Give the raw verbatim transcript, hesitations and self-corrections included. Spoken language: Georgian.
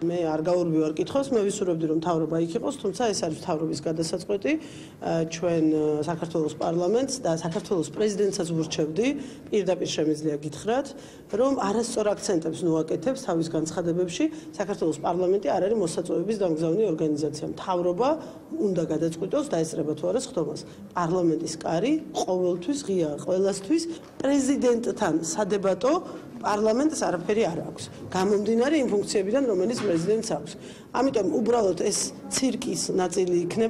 მე არ გაურბივარ კითხვას, მე ვისურვებდი რომ მთავრობა იქ იყოს, თუმცა ეს არის მთავრობის გადასაწყვეტი. ჩვენ საქართველოს პარლამენტს და საქართველოს პრეზიდენტსაც ვურჩევდი, პირდაპირ შემიძლია გითხრათ, რომ არასწორ აქცენტებს ნუაკეთებს თავის განცხადებებში. საქართველოს პარლამენტი არ არის მოსაწვევების დამგზავნი ორგანიზაცია. მთავრობა უნდა გადაწყვიტოს დაესწრება თუ არა სხდომას. პარლამენტის კარი ყოველთვის ღიაა ყველასთვის. პრეზიდენტთან სადებატო პარლამენტს არაფერი არ აქვს. გამომდინარე იმ ფუნქციებიდან, რომელიც პრეზიდენტს აქვს. ამიტომ უბრალოდ ეს ცირკის ნაწილი იქნება.